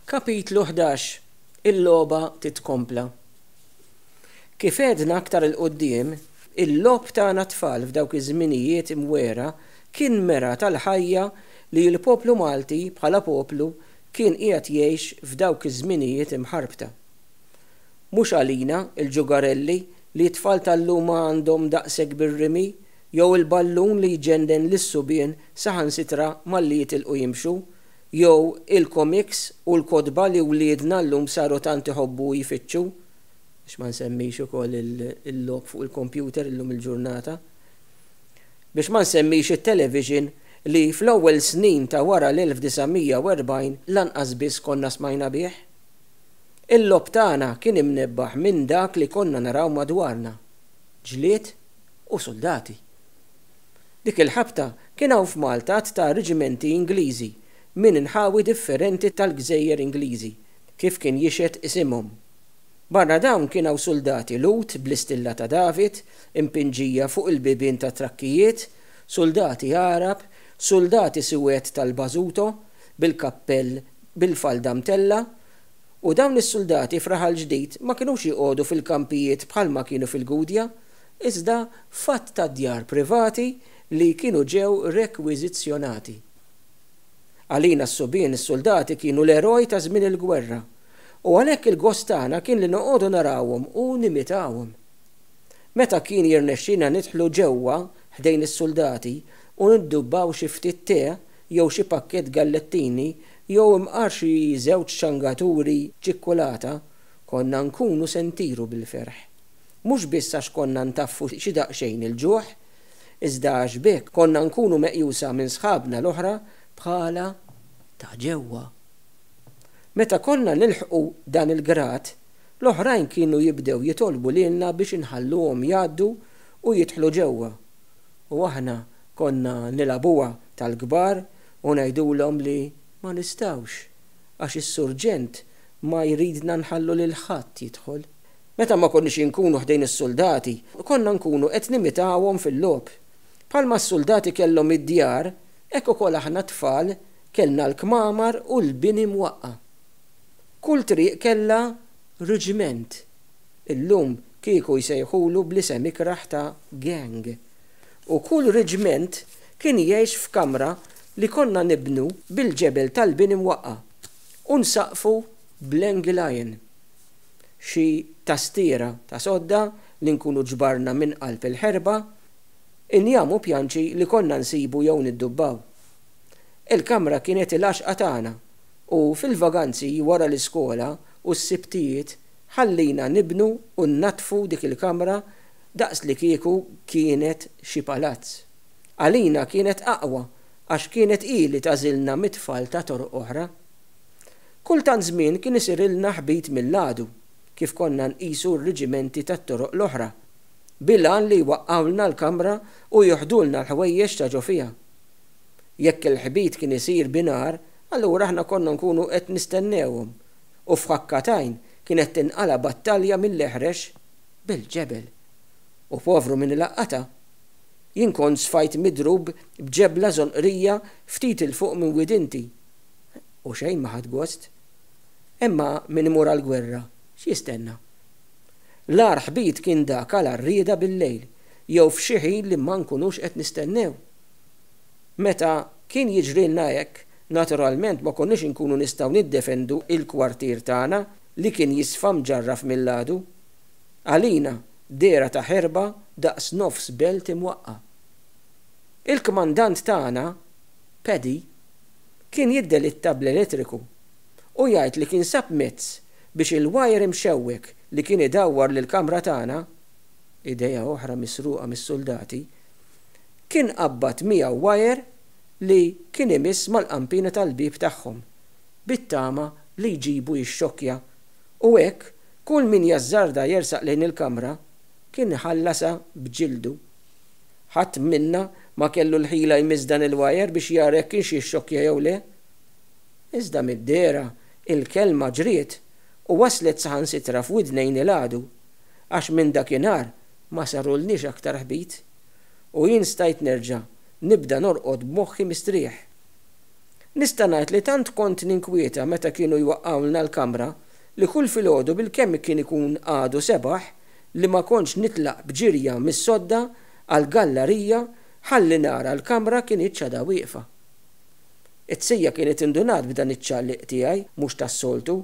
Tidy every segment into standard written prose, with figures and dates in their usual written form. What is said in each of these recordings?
Kapitlu 11, Il-logħba titkompla. Kif għedna aktar 'il quddiem, il-logħob tagħna t-tfal f'dawk iż-żminijiet imwiegħra kien mera tal-ħajja li l-poplu Malti bħala poplu kien qiegħed jgħix f'dawk iż-żminijiet imħarbta. Mhux għalina, il-ġugarelli, li t-tfal tal-lum għandhom daqshekk bir-rimi, jew il-ballun li jġennen lis-subien saħansitra malli jitilqu jimxu, jew il-komiks u l-kotba li wliedna llum saru tant iħobbu u jfittxu, biex ma nsemmix ukoll il-logħob fuq il-kompjuter illum il-ġurnata, biex ma nsemmix it-television li fl-ewwel snin ta' wara l-1940 lanqas biss konna smajna bih. Il-logħob tagħna kien imnebbaħ minn dak li konna naraw madwarna, ġlied u suldati. Dik il-ħabta kien hawn f'Malta għadd ta' reġimenti Ingliżi minn inħawi differenti tal-gżejjer Ingliżi, kif kien jixhed isimhom. Barra dawn kien hawn suldati Lhud bl-istilla ta' David impinġija fuq il-bibien tat-trakkijiet, suldati Għarab, suldati suwed tal-Basuto bil-kappell bil-falda mtellgħa, u dawn is-suldati f'Raħal Ġdid ma kinux joqogħdu fil-kampijiet bħalma kienu fil-Gudja, iżda f'għadd ta' djar privati li kienu ġew rekwiżizzjonati. Għalina s-subien is-suldati kienu l-eroj ta' żmien il-gwerra, u għalhekk il-gost tagħna kien li noqogħdu narawhom u nimitawhom. Meta kien jirnexxilna nidħlu ġewwa ħdejn is-suldati u niddubbaw xi ftit te jew xi pakkett gallettini jew imqar xi żewġ ċangaturi ċikkulata, konna nkunu se ntiru bil-ferħ. Mhux biss għax konna ntaffu xi daqsxejn il-ġuħ, iżda għax b'hekk konna nkunu meqjusa minn sħabna l-oħra bħala ta' ġewwa. Meta konna nilħqu dan il-grad, l-oħrajn kienu jibdew jitolbu lilna biex inħalluhom jgħaddu u jidħlu ġewwa. U aħna konna nilagħbuha tal-kbar u ngħidulhom li ma nistgħux għax is-surġent ma jridna nħallu lil ħadd jidħol. Meta ma konniex inkunu ħdejn is-suldati, konna nkunu qed nimitawhom fil-logħob. Bħalma s-suldati kellhom id-djar, hekk ukoll aħna t-tfal kellna l-kmamar u l-bini mwaqqa'. Kull triq kellha riġment. Illum kieku jsejħulu bl-isem ikrah ta' gang. U kull riġment kien jgħix f'kamra li konna nibnu bil-ġebel tal-bini mwaqqa' u nsaqqfu bl-angle iron. xi tastiera ta' sodda li nkunu ġbarna minn qalb il-ħerba, injam u pjanċi li konna nsibu jew niddubbaw. Il-kamra kienet il-għaxqa tagħna u fil-vaganzi wara l-iskola u s-Sibtijiet ħallina nibnu u nnaddfu dik il-kamra daqslikieku kienet xi palazz. Għalina kienet aqwa għax kienet hi li tagħżilna mit-tfal ta' toroq oħra. Kull tant żmien kien isirilna ħbit mill-għadu, kif konna nqisu r-riġimenti tat-toroq l-oħra, bil-għan li jwaqqgħulna l-kamra u jiħdulna l-ħwejjeġ ta' ġo fiha. Jekk il-ħbit kien isir bi nhar, allura aħna konna nkunu qed nistennewhom, u f'ħakka t'għajn kienet tinqala' battalja mill-eħrex bil-ġebel. U povru min ilaqqatha! Jien kont sfajt midrub b'ġebla żonqrija ftit 'il fuq minn widinti. U xejn ma ħadt gost. Imma min imur għall-gwerra, x'jistenna? L-agħar ħbit kien dak għal għarrieda bil-lejl, jew f'xi ħin li ma nkunux qed nistennew. Meta kien jiġrilna hekk, naturalment ma konniex inkunu nistgħu niddefendu l-kwartier tagħna li kien jisfa mġarraf mill-għadu. Għalina, dehra ta' ħerba daqs nofs belt imwaqqa'. Il-kmandant tagħna, Paddy, kien jiddelitta bl-elettriku u jgħid li kien sab mezz biex il-wajer imxewwek li kien idawwar lill-kamra tagħna, idea oħra misruqa mis-suldati, kien qabbad miegħu wajer li kien imiss mal-qanpiena tal-bieb tagħhom bit-tama li jġibu jixxokkja u hekk kull min jażżarda jersaq lejn il-kamra kien iħallasha b'ġildu. Ħadd minna ma kellu l-ħila jmiss dan il-wajer biex jara jekk kienx jixxokkja jew le. Iżda mid-dehra il-kelma ġriet u waslet saħansitra f'widnejn il-għadu, għax minn dakinhar ma sarulniex aktar ħbit, u jien stajt nerġa' nibda norqod b'moħħi mistrieħ. Nista' ngħid li tant kont ninkwieta meta kienu jwaqqgħulna l-kamra li kull filgħodu bilkemm kien ikun għadu sebaħ li ma kontx nitlaq b'ġirja mis-sodda għall-gallarija ħalli nara l-kamra kinitx għadha wieqfa. It-tija kienet indunat b'dan iċ-ċaqliq tiegħi mhux tas-soltu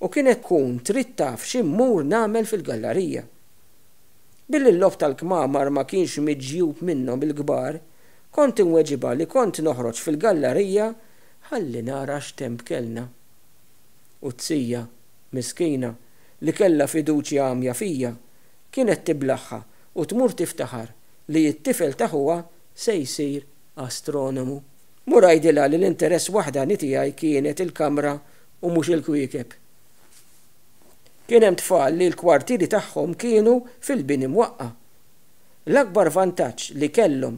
u kienet tkun trid taf xi mmur nagħmel fil-gallarija. Billi l-logħob tal-kmamar ma kienx miġjub minnhom il-kbar, kont inweġibha li kont noħroġ fil-gallarija ħalli nara x'temp kellna. U t-tija, miskina, li kellha fiduċja għamja fija, kienet tiblagħha u tmur tiftaħar li t-tifel ta' ħuha se jsir astronomu. Mur għidilha li l-interess waħdani tiegħi kienet il-kamra u mhux il-kwiekeb. Kien hemm tfal li l-kwartieri tagħhom kienu fil-bini mwaqqa'. L-akbar vantaġġ li kellhom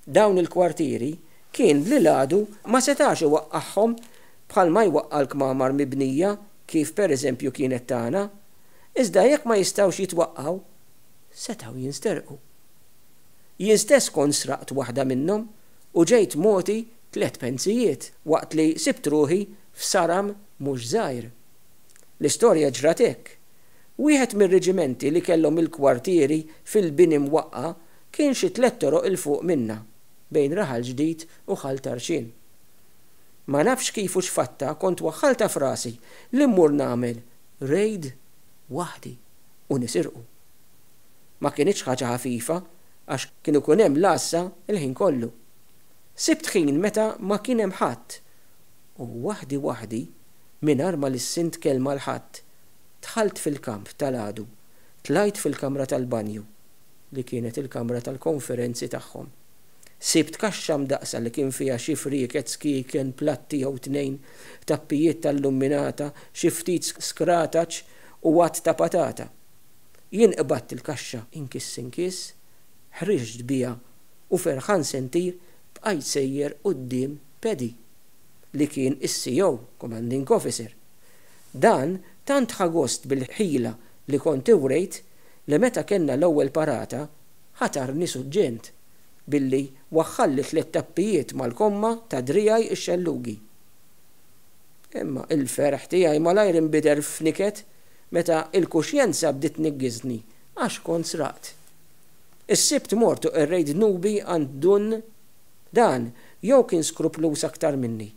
dawn il-kwartieri kien li l-għadu ma setax iwaqqagħhom bħalma jwaqqa' l-kmamar mibnija kif pereżempju kienet tagħna. Iżda jekk ma jistgħux jitwaqqgħu, setgħu jinsterqu. Jien stess kont sraqt waħda minnhom u ġejt mogħti tlett penzijiet waqt li sibt ruħi f'saram mhux żgħir. L-istorja ġrat hekk. Wieħed mir-reġimenti li kellhom il-kwartieri fil-bini mwaqqa' kien xi tlett toroq 'il fuq minna, bejn Raħal Ġdid u Ħal Tarxien. Ma nafx kif u x'fatta kont waħħaltha f'rasi li mmur nagħmel rejd waħdi u nisirqu. Ma kinitx ħaġa ħafifa għax kien ikun hemm l-għassa l-ħin kollu. Sibt ħin meta ma kien hemm ħadd u waħdi waħdi, mingħajr ma lissint kelma 'l ħadd, dħalt fil-kamp tal-għadu, tlajt fil-kamra tal-banju, li kienet il-kamra tal-konferenzi tagħhom. Sibt kaxxa mdaqqsa li kien fiha xi frieket, skieken, platti jew tnejn, tappijiet tal-lumminata, xi ftit skrataċ u għadd ta' patata. Jien qbadt il-kaxxa inkiss inkiss, ħriġt biha u ferħan se ntir bqajt sejjer quddiem Paddy, li kien is-CO, Commanding Officer. Dan tant ħa gost bil-ħila li kont iwrejt li meta kellna l-ewwel parata ħatarni suġġent billi waħħalli tlett tappijiet mal-komma ta' driegħi x-xellugi. Imma il-ferħ tiegħi malajr inbidel f'niket meta l-kuxjenza bdiet tniggiżni għax kont sraqt. Is-Sibt mort u qerrejt dnubi għand Dun Dan jew kien skrupluż aktar minni,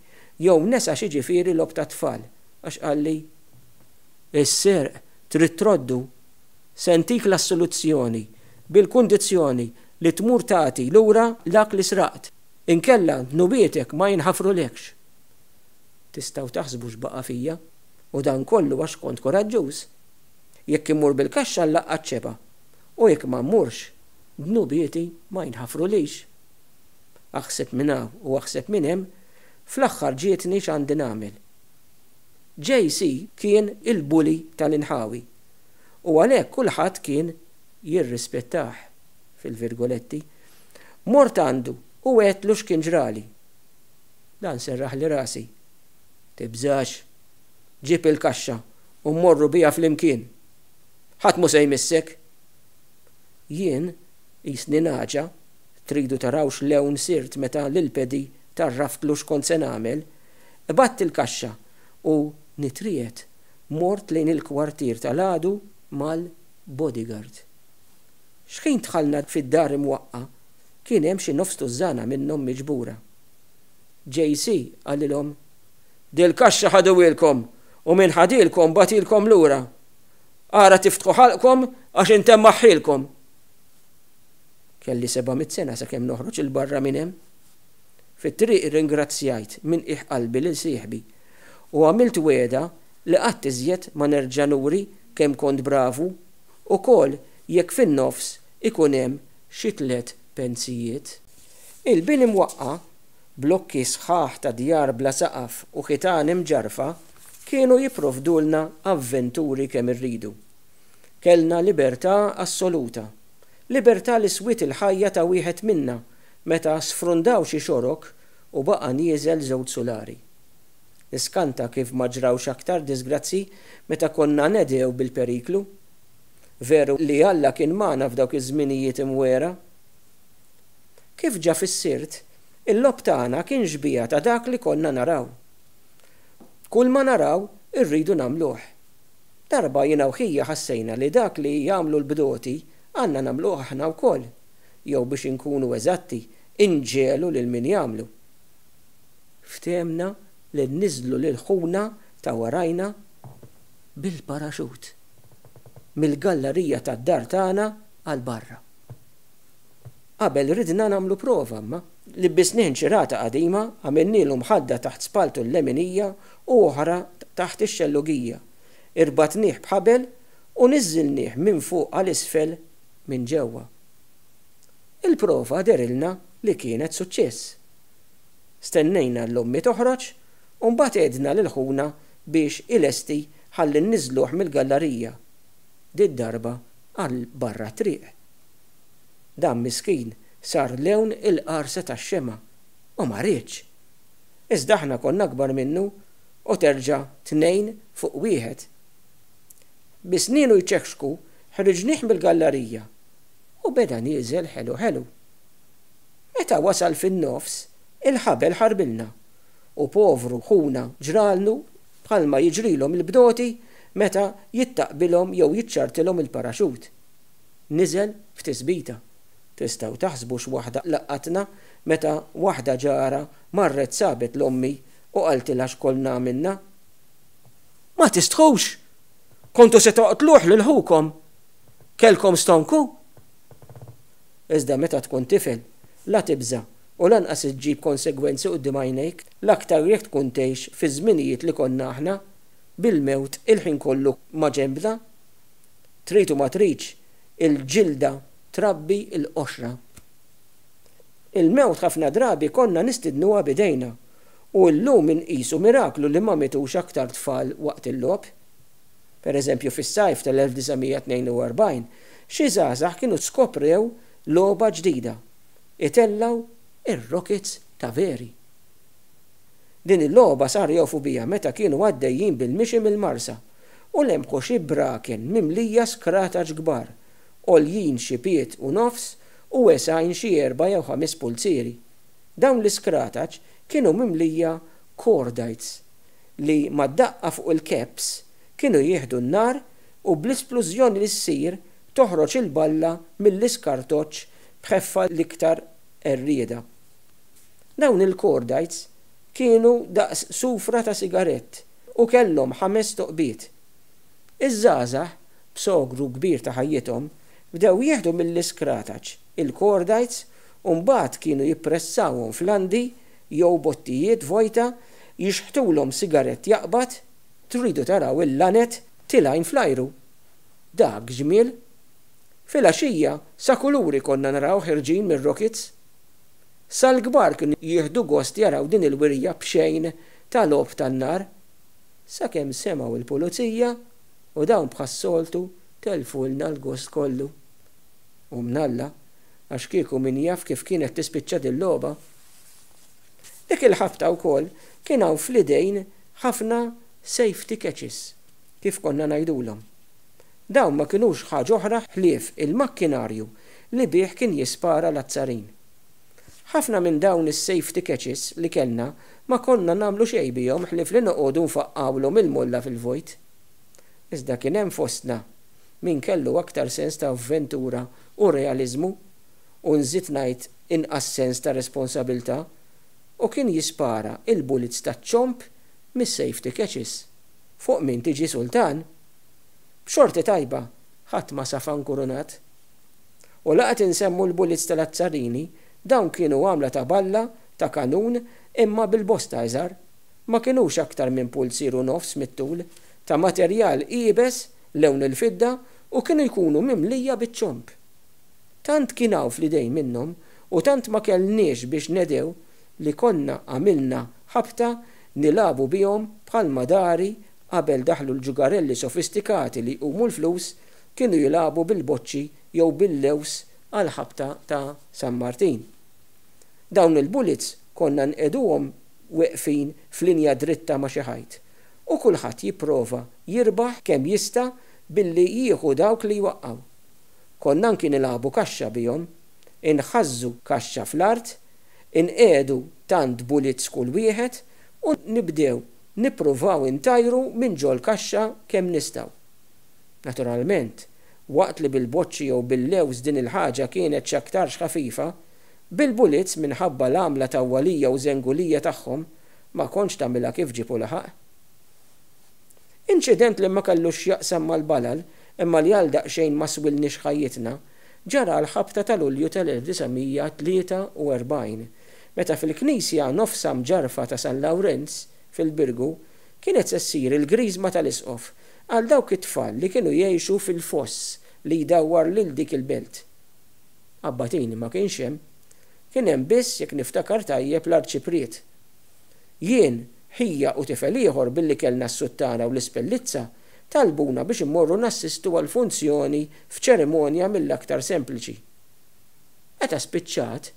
jew nesa x'jiġifieri logħob tat-tfal, għax qalli, Is-serq trid troddu. Se ntik l-assoluzzjoni bil-kundizzjoni li tmur tagħti lura dak li sraqt, inkella dnubietek ma jinħafrulekx. Tistgħu taħsbu x'baqa' fija, u dan kollu għax kont kuraġġuż. Jekk immur bil-kaxxa nlaqqat xebgħa, u jekk ma mmurx, dnubieti ma jinħafrulix. Aħseb minn hawn u aħseb minn hemm, fl-aħħar ġietni x'għandi nagħmel. JC kien il-bully tal-inħawi u għalhekk kulħadd kien jirrispettah, fil-virgoletti. Mort għandu u għedtlu x'kien ġrali. Dan serraħli rasi. Tibżax. Ġib il-kaxxa u mmorru biha flimkien. Ħadd mhu se jmissek. Jien, qisni nagħġa, tridu taraw x'lewn sirt meta lil Paddy tgħarraftlu x'kont se nagħmel, qbadt il-kaxxa u, nitriegħed, mort lejn il-kwartier tal-għadu mal-bodyguard. X'ħin dħalna fid-dar imwaqqa' kien hemm xi nofs tużżana minnhom miġbura. JC qalilhom, Dil-kaxxa ħaduhielkom u min ħadhielkom bagħtilkom lura. Ara tiftħu ħalqkom għax intemmaħħielkom! Kelli 700 sena sakemm noħroġ 'il barra minn hemm. Fit-triq irringrazzjajt minn qiegħ qalbi lil sieħbi u għamilt wegħda li qatt iżjed ma nerġa' nuri kemm kont bravu, ukoll jekk fin-nofs ikun hemm xi tlett penzijiet. Il-bini mwaqqa', blokki sħaħ ta' djar bla saqaf u ħitan imġarrfa kienu jipprovdulna avventuri kemm irridu. Kellna libertà assoluta. Libertà li swiet il-ħajja ta' wieħed minna meta sfrundaw xi xorok u baqa' nieżel żewġ sulari. Niskanta kif ma ġrawx aktar diżgrazzji meta konna nedhew bil-periklu. Veru li Alla kien magħna f'dawk iż-żminijiet imwiegħra. Kif ġa fissirt, Il-logħob tagħna kien xbieha ta' dak li konna naraw. Kulma naraw irridu nagħmluh. Darba jiena u ħija ħassejna li dak li jagħmlu l-bdoti għandna nagħmluh aħna wkoll, jew biex inkunu eżatti, inġegħlu lil min jagħmlu. Ftehemna li nniżżlu lil ħuna ta' warajna bil-paraxut mill-gallarija tad-dar tagħna għal barra. Qabel ridna nagħmlu prova imma. Libbisnih nċirata qadima, għamilnielu mħadda taħt spalltu l-leminija u oħra taħt ix-xellugija, irbatnih b'ħabel u niżżilnih minn fuq għal isfel minn ġewwa. Il-prova dehrilna li kienet suċċess. Stennejna 'l ommi toħroġ u mbagħad għedna lil ħuna biex ilesti ħalli nniżżluh mill-gallarija, did-darba għal barra t-triq. Dan miskin sar lewn il-qarsa tax-xemgħa u ma riedx. Iżda aħna konna akbar minnu u terġa' tnejn fuq wieħed. Bi snienu jċekxku ħriġnih mill-gallarija u beda nieżel ħelu ħelu. Meta wasal fin-nofs, il-ħabel ħarbilna u povru ħuna ġralnu bħalma jiġrilhom il-bdoti meta jittaqbilhom jew jiċċartilhom il-paraxut. Niżel f'tisbita. Tistgħu taħsbu x'waħda laqatna meta waħda ġara marret sabet 'l ommi u qaltilha x'kollna għamilna. Ma tistħux! Kontu se toqtluh lil ħukom! Kellkom stonku? Iżda meta tkun tifel, la tibża' u lanqas iġġib konsegwenzi quddiem għajnejk, l-aktar jekk tkun tgħix fiż-żminijiet li konna aħna, bil-mewt il-ħin kollu maġenbna. Trid u ma tridx, il-ġilda trabbi l-qoxra. Il-mewt ħafna drabi konna nistidnuha b'idejna, u llum inqisu miraklu li ma mietux aktar tfal waqt il-logħob. Per eżempju, fis-sajf tal-1942, xi żgħażagħ kienu skoprew logħba ġdida, itellgħu r-rokits ta' veri. Din il-logħba saru jafu biha meta kienu għaddejjin bil-mixi mill-Marsa u lemħu xi braken mimlija skrataċ kbar, għoljin xi pied u nofs u wesgħin xi erba' jew ħames pulzieri. Dawn l-iskrataċ kienu mimlija cordites li mad-daqqa fuq il-caps kienu jieħdu n-nar u bl-isplużjoni li ssir toħroġ il-balla mill-iskartoċċ b'ħeffa l-iktar qerrieda. Dawn il-cordites kienu daqs sufra ta' sigarett u kellhom ħames toqbiet. Iż-żgħażagħ, b'sogru kbir ta' ħajjithom, bdew jieħdu mill-iskrataċ il-cordites u mbagħad kienu jippressawhom f'landi jew bottijiet vojta, jixħtulhom sigarett jaqbad, tridu taraw il-laned tilgħin fl-ajru! Dak ġmiel! Filgħaxija sa kuluri konna naraw ħerġin mir-rokits. Sal-kbar kienu jieħdu gost jaraw din il-wirja b'xejn ta' logħob tan-nar. Sakemm semgħu l-pulizija u dawn bħas-soltu tellfulna l-gost kollu. U mnalla, għax kieku min jaf kif kienet tispiċċa dil-logħba. Dik il-ħabta wkoll kien hawn fl-idejn ħafna safety catches, kif konna ngħidulhom. Dawn ma kinux ħaġa oħra ħlief il-makkinarju li bih kien jispara l-azzarin. Ħafna minn dawn is-safety catches li kellna ma konna nagħmlu xejn bihom ħlief li noqogħdu nfaqqgħulhom il-molla fil-vojt. Iżda kien hemm fostna min kellu aktar sens ta' avventura u realiżmu, u nżid ngħid inqas sens ta' responsabilità, u kien jispara il-bullets taċ-ċomb mis-safety catches. Fuq min tiġi sultan? B'xorti tajba, ħadd ma safa nkurunat. U la qed insemmu l-bullets tal-azzarini, dawn kienu għamla ta' balla ta' kanun imma bil-bosta iżgħar. Ma kinux aktar minn pulzier u nofs mit-tul, ta' materjal iebes lewn il-fidda u kienu jkunu mimlija biċ-ċomb. Tant kien hawn fl-idejn minnhom u tant ma kellniex biex nedhew li konna għamilna ħabta nilagħbu bihom bħalma dari qabel daħlu l-ġugarelli sofistikati li jqumu l-flus kienu jilagħbu bil-boċċi jew bil-lewż għall-ħabta ta' San Martin. Dawn il-bullets konna nqegħduhom weqfin f'linja dritta ma' xi ħajt u kulħadd jipprova jirbaħ kemm jista' billi jieħu dawk li jwaqqgħu. Konna anki nilagħbu kaxxa bihom. Inħażżu kaxxa fl-art. Inqiegħdu tant bulits kull wieħed u nibdew nippruvaw intajru minn ġol-kaxxa kemm nistgħu. Naturalment, waqt li bil-boċċi jew bil-lewż din il-ħaġa kienet x'aktarx ħafifa, bil-bulits minħabba l-għamla tawwalija u żengulija tagħhom ma kontx tagħmilha kif ġieb u laħaq. Inċident li ma kellux x'jaqsam mal-balal imma li għal daqsxejn ma swilniex ħajjitna, ġara għall-ħabta ta' Lulju tal-1943, meta fil-knisja nofsha mġarrfa ta' San Lawrenz, fil-Birgu, kienet se ssir il-griżma tal-Isqof għal dawk it-tfal li kienu jgħixu fil-foss li jdawwar lil dik il-belt. Abbatini ma kienx hemm. Kien hemm biss, jekk niftakar tajjeb, l-Arċipriet. Jien, ħija u tifel ieħor billi kellna s-suttana u l-ispellizza, talbuna biex immorru nassistu għall-funzjoni f'ċerimonja mill-aktar sempliċi. Meta spiċċat,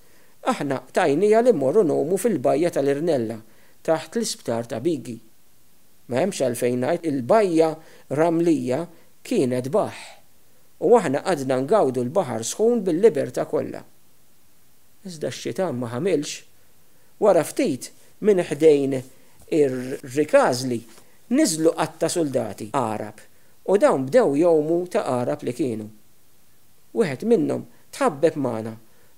aħna qtajniha li mmorru ngħumu fil-bajja tal-Irnella taħt l-isptar ta' Bigi. Ma hemmx għalfejn ngħid il-bajja ramlija kienet baħħ u aħna qgħadna ngawdu l-baħar sħun bil-libertà kollha. Iżda x-xitan ma ħamilx. Wara ftit, minn ħdejn ir-Rikażli niżlu qatta suldati Għarab u dawn bdew jgħumu ta' Għarab li kienu. Wieħed minnhom tħabbeb magħna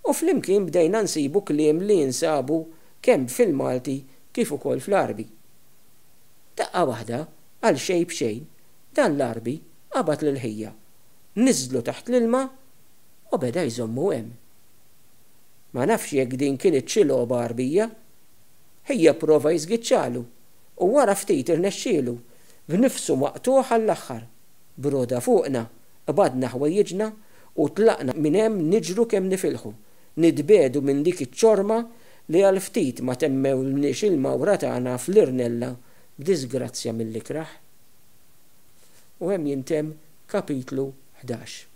u flimkien bdejna nsibu kliem li jinsabu kemm fil-Malti kif ukoll fl-Għarbi. Daqqa waħda, għal xejn b'xejn, dan l-Għarbi qabad lil ħija, niżżlu taħt l-ilma u beda jżommu hemm. Ma nafx jekk din kinitx xi logħba Għarbija. Ħija pprova jiżgiċċalu u wara ftit irnexxielu, b'nifsu maqtugħ għall-aħħar. B'roda fuqna, qbadna ħwejjiġna u tlaqna minn hemm niġru kemm nifilħu, nitbiegħdu minn dik iċ-ċorma li għal ftit ma temmewlniex il-mawra tagħna fl-Irnella b'diżgrazzja mill-ikrah. U hemm jintemm kapitlu 11.